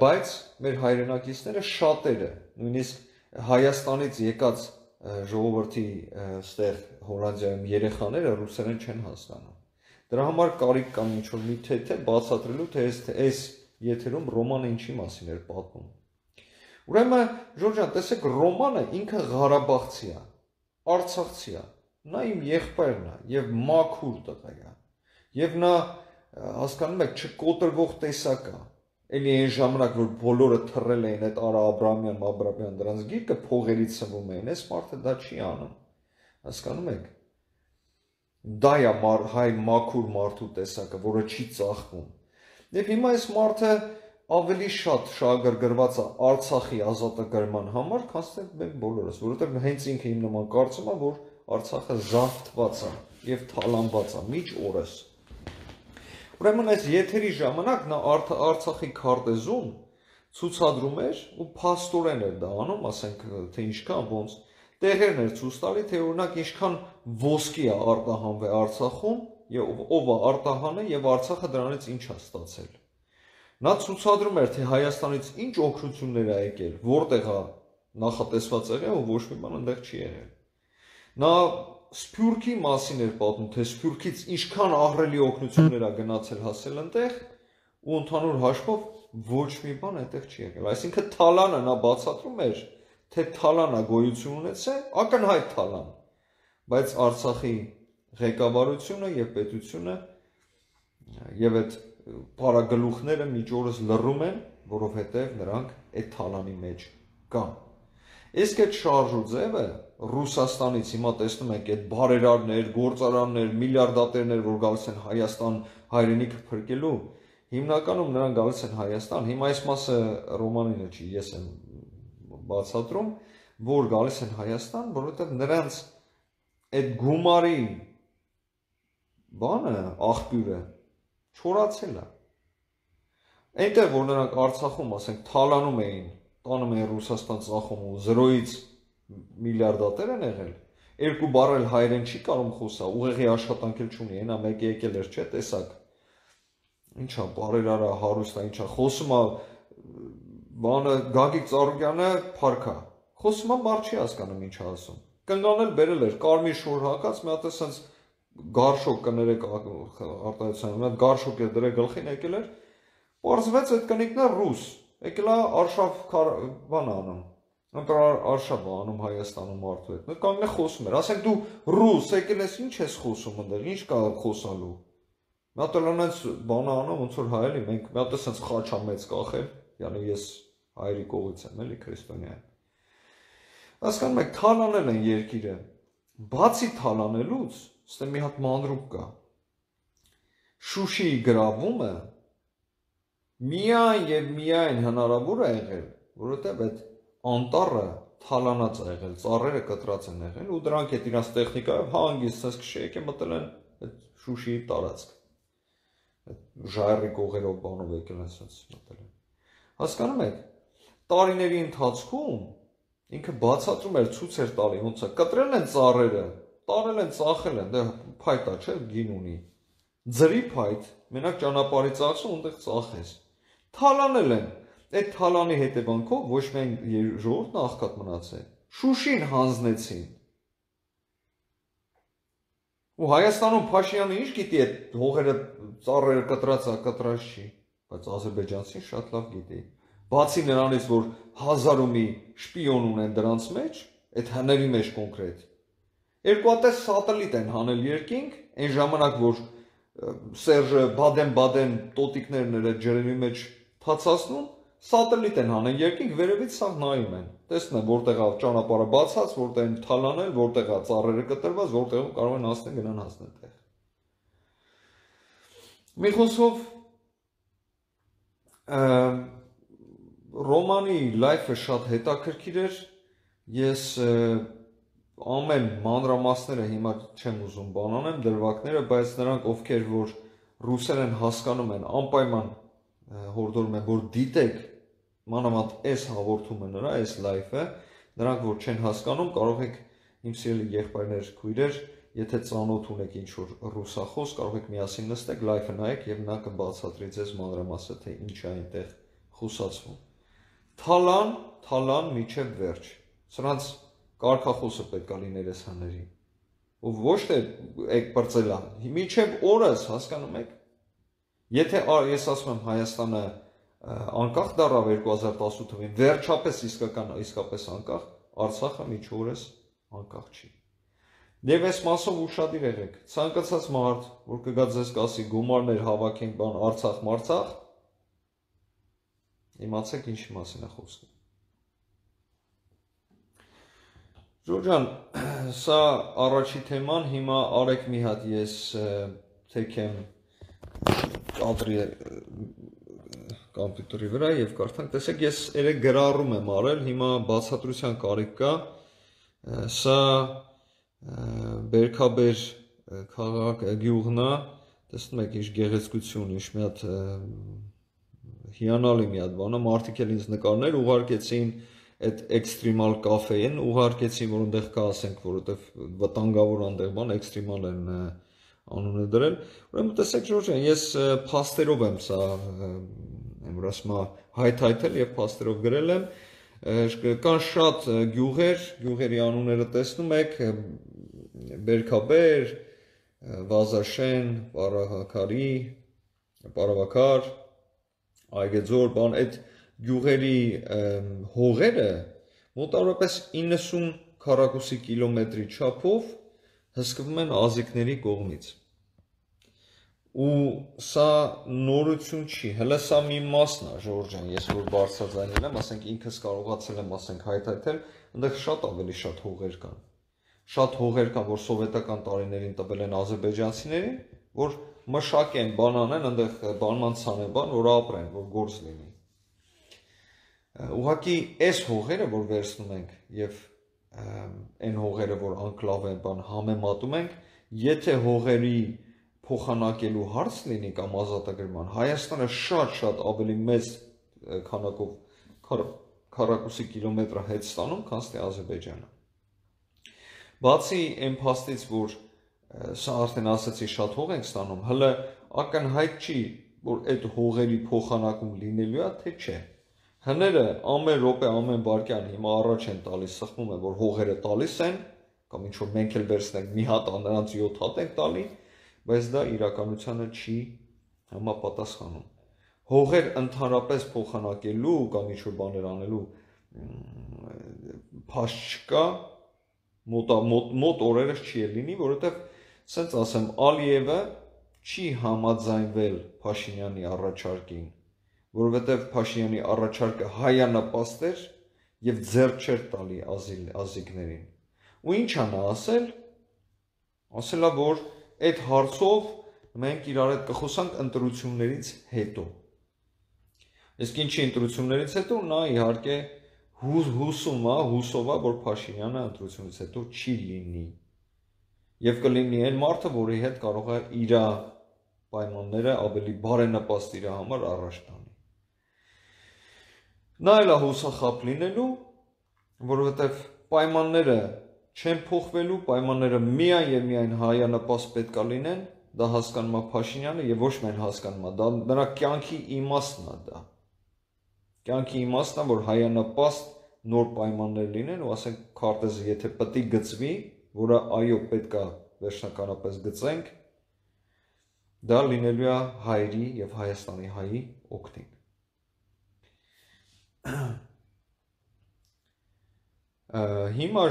բայց մեր հայրենակիցները շատերը, նույնիսկ Հայաստանից եկած ժողովրդի ստեղ Հոլանդիայում երեխաները ռուսերեն չեն հասկանում։ Դրա համար կարիք կա ինչ-որ մի թեթե բացատրելու, թե այս եթերում Ռոմանը ինչի մասին էր պատմում։ Ուրեմն, Ժորժ ջան, տեսեք, Ռոմանը ինքը Ղարաբաղցի է, Արցախցի է, նա իմ եղբայրն է եւ մաքուր տղա է։ Եվ նա, հասկանում եք, չկոտրվող տեսակ է։ Էլի այն ժամանակ, որ բոլորը թռել էին այդ Արա Աբրահամյան դրանց գիրկը փողերից սնվում էին, այս մարդը դա չի անում։ Հասկանում եք։ Դա է հայ մաքուր մարդու տեսակը, որը չի ծաղկում։ Եվ հիմա այս մարդը ավելի շատ շահագրգռված է Արցախի ազատագրման համար, քան թե մենք բոլորս, որովհետև հենց ինքը իմ նման կարծում է, որ Արցախը զավթված է եւ թալանված է միջ օրս։ Ուրեմն այս եթերի ժամանակ նա Արցախի քարտեզում ցուցադրում էր ու փաստորեն էր դա անում, ասենք թե ինչքան ոնց տեղերն էր ցույց տալի, թե օրինակ ինչքան ոսկի է արտահանվել Արցախում եւ ով է արտահանը եւ Արցախը դրանից ինչ է ստացել։ Նա ցուցադրում էր, թե Հայաստանից ինչ օգնություններ է եկել, որտեղ է նախատեսված եղել ու ոչ մի բան այնտեղ չի եղել։ Նա Սփյուռքի մասին էր պատմում, թե Սփյուռքից ինչքան ահռելի օգնություններ է գնացել հասել այնտեղ ու ընդհանուր հաշվով ոչ մի բան այնտեղ չի եղել։ Այսինքն Թալանը նա բացատրում էր, թե Թալանը գոյություն ունեցել, ակնհայտ Թալան, բայց Արցախի ղեկավարությունը եւ պետությունը եւ այդ պարագլուխները միջորս լռում են, որովհետեւ նրանք այդ Թալանի մեջ կան։ Իսկ այդ շարժու ձևը Ռուսաստանից հիմա տեսնում ենք այդ բարերարներ, գործարաններ, միլիարդատերներ, որ գալիս են Հայաստան հայրենիքը փրկելու, հիմնականում նրանք գալիս են Հայաստան, հիմա այս մասը Ռոմանինը չի, ես եմ բացատրում, որ գալիս են Հայաստան, որովհետև նրանց այդ գումարի բանը, աղբյուրը չորացել է։ Այնտեղ, որ նրանք Արցախում, ասենք, թալանում էին, տանում էին Ռուսաստան ծախում ու 0-ից միլիարդատեր են եղել, 2 բառել հայերեն չի կարող խոսա, ուղեղի աշխատանք էլ չունի, այնա մեկը եկել էր, չէ, տեսակ։ Ինչա, բարերարա, հարուստա, ինչա, խոսում է բանը Գագիկ Ծառուկյանը փառքա։ Խոսում է մարդ չի հասկանում ինչ ասում։ Կնգանել բերել էր, կարմիր շոր հակած, մի հատ էսենց գարշոկ կներեք արտահայտության, մի հատ գարշոկ էր դրել գլխին եկել էր, պարզվեց այդ կնիկն է ռուս, եկել է արշավ բան անում, ընտրար արշավ անում Հայաստանում մարդու հետ, կանգն է խոսում էր, ասենք դու ռուս, եկել ես ինչ ես խոսում ընդեղ, ինչ կա խոսալու, մի հատ էլ անենց բան անում, ոնց որ հայելի, մենք մի հատ էսենց խաչա մեծ կախել, յանի ես հայերի կողից եմ, էլի քրիստոնյա եմ, հասկանում եք, թալանել են երկիրը, բացի թալանելուց, ստե մի հատ մանրուք կա, Շուշիի գրավումը միայն եւ միայն հնարավոր է եղել, որովհետեւ այդ անտառը թալանած է եղել, ծառերը կտրած են եղել ու դրանք այդ իրաց տեխնիկայով հանգիստ sense քշեկ է մտել են այդ Շուշիի տարածք։ Այդ ժայռի կողերով բանով եկել են sense մտել են։ Հասկանում եք, տարիների ընթացքում ինքը բացատրում էր ցույց էր տալի ոնց է կտրել են ծառերը, տարել են, ծախել են, դե փայտա չէ, գին ունի։ Ձրի փայտ, մենակ ճանապարհի ծախսում այնտեղ ծախես։ Թալանել են, այդ թալանի հետևանքով ոչ միայն ժողովուրդն աղքատ մնացել, Շուշին հանձնեցին։ Ու Հայաստանում Փաշինյանը ինչ գիտի այդ հողերը ծառերը կտրած է, կտրած չի, բայց ադրբեջանցին շատ լավ գիտի։ Բացի նրանից, որ 1000 ու մի շպիոն ունեն դրանց մեջ, այդ հների մեջ կոնկրետ։ Երկու հատ սատելիտ են հանել երկինք, այն ժամանակ, որ Սերժը բադեն տոտիկներն էր այդ ջրերի մեջ թացացնում, սատելիտ են հանել երկինք, վերևից սաղ նայում են, տեսնում են, որտեղ է ճանապարհը բացած, որտեղ են թալանել, որտեղ է ծառերը կտրված, որտեղ կարող են հասնել, գնան հասնել տեղ։ Մի խոսքով Ռոմանի լայֆը շատ հետաքրքիր էր, ես ամեն մանրամասները հիմա չեմ ուզում բանանեմ դրվագները, բայց նրանք ովքեր որ ռուսերեն հասկանում են, անպայման հորդորում են, որ դիտեք մանավանդ այս հաղորդումը նրա, այս լայֆը, նրանք որ չեն հասկանում, կարող եք իմ սիրելի եղբայրներ, քույրեր, եթե ծանոթ ունեք ինչ-որ ռուսախոս, կարող եք միասին նստեք, լայֆը նայեք եւ նա կբացատրի ձեզ մանրամասը, թե ինչ է այնտեղ խոսացվում։ Թալան միջև վերջ։ Սրանց կարգախոսը պետք է լիներ այս հների։ Ու ոչ թե եք բրծելա, միջև օրս հասկանում եք։ Եթե ես ասում եմ Հայաստանը անկախ դառավ 2018 թվականին, վերջապես իսկապես անկախ, Արցախը միջև օրս անկախ չի։ Եվ այս մասով ուշադիր եղեք, ցանկացած մարդ, որ կգա ձեզ կասի գումարներ հավաքենք բան Արցախ, իմացեք ինչի մասին է խոսքը։ Ժորժան, սա առաջի թեման, հիմա արեք մի հատ ես թեքեմ կադրի կոմպյուտերի վրա եւ կարդանք, տեսեք ես երեք գրառում եմ արել, հիմա բացատրության կարիք կա, սա Բերքաբեր քաղաք գյուղն է, տեսնում եք ինչ գեղեցկություն, ինչ մի հատ հիանալի մի հատ բան է, մարդիկ էլ ինձ նկարներ ուղարկեցին, այդ էքստրեմալ կաֆեին ուղարկեցին, որ այնտեղ կա, ասենք, որովհետև վտանգավոր այնտեղ բան էքստրեմալ են անունը դրել։ Ուրեմն տեսեք Ժորժան, ես փաստերով եմ սա որ ասում եմ հայթայթել եւ փաստերով գրել եմ, կան շատ գյուղերի անունները տեսնում եք, Բերքաբեր, Վազաշեն, Պարավաքար, Այգեձոր, բան այդ գյուղերի հողերը մոտավորապես 90 քառակուսի կիլոմետրի չափով հսկվում են ազիկների կողմից։ Ու սա նորություն չի, հələ սա մի մասն է, Ժորժան, ես որ բարձրաձայնել եմ, ասենք ինքս կարողացել եմ, ասենք հայթայթել, այնտեղ շատ ավելի շատ հողեր կան։ Շատ հողեր կան, որ սովետական տարիներին տվել են ադրբեջանցիներին, որ մշակեն, բան անեն, այնտեղ բանման ցանեն բան, որ ապրեն, որ գործ լինի։ Ուղղակի այս հողերը, որ վերցնում ենք եւ այն հողերը, որ անկլավ են, բան համեմատում ենք, եթե հողերի փոխանակելու հարց լինի կամ ազատագրման, Հայաստանը շատ ավելի մեծ քանակով քառակուսի կիլոմետր հետ ստանում, քան թե Ադրբեջանը։ Բացի այն փաստից, որ սա արդեն ասացի շատ հող ենք ստանում, հələ ակնհայտ չի, որ այդ հողերի փոխանակում լինելու է, թե չէ։ Հները ամեն րոպե, ամեն վայրկյան հիմա առաջ են տալիս, սխմում են, որ հողերը տալիս են, կամ ինչ որ մենք էլ վերցնենք մի հատ նրանց 7 հատ ենք տալի, բայց դա իրականությանը չի համապատասխանում։ Հողեր ընդհանրապես փոխանակելու կամ ինչ որ բաներ անելու փաստ չկա, մոտ օրերս չի լինի, որովհետև սենց ասեմ, Ալիևը չի համաձայնվել Փաշինյանի առաջարկին, որովհետև Փաշինյանի առաջարկը հայանպաստ էր եւ ձեռք չէր տալի ազիկներին։ Ու ինչ ա նա ասել։ Ասելա, որ այդ հարցով մենք իրար հետ կխոսանք ընտրություններից հետո։ Իսկ ինչի ընտրություններից հետո, նա իհարկե հուսով է, որ Փաշինյանը ընտրությունից հետո չի լինի։ Եվ կլինի այն մարդը, որի հետ կարող է իր պայմանները ավելի բարենպաստ իր համար առաջ տանի։ Նա էլ է հուսախաբ լինելու, որովհետև պայմանները չեն փոխվելու, պայմանները միայն եւ միայն հայանպաստ պետք է լինեն, դա հասկանում է Փաշինյանը եւ ոչ միայն հասկանում է, դա նրա կյանքի իմաստն է դա։ Կյանքի իմաստն է, որ հայանպաստ նոր պայմաններ լինեն ու ասենք քարտեզը եթե պետք է գծվի, որը այո պետք է վերջնականապես գծենք, դա լինելու է հայերի եւ Հայաստանի հայի օգտին։ Հիմա